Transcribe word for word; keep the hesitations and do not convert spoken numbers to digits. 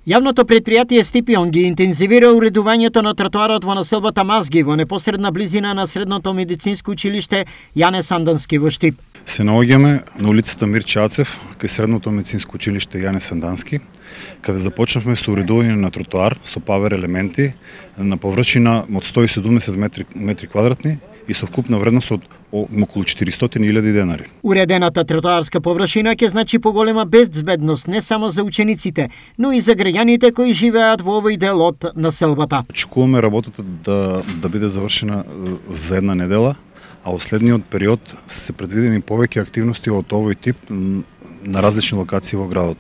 Јавното предпријатие Стипион ги интензивира уредувањето на тротоарот во населбата Мазги во непосредна близина на средното медицинско училиште Јане Сандански во Штип. Се наоѓаме на улицата Мирче Ацев, кај средното медицинско училиште Јане Сандански, каде започнавме со уредување на тротоар со павер елементи на површина од сто и седумдесет метри, метри квадратни и со вкупна вредност од околу четиристотини илјади денари. Уредената тротоарска површина ќе значи поголема безбедност не само за учениците, но и за граѓаните кои живеат во овој дел од населбата. Очекуваме работата да да биде завршена за една недела, а во следниот период се предвидени повеќе активности од овој тип на различни локации во градот.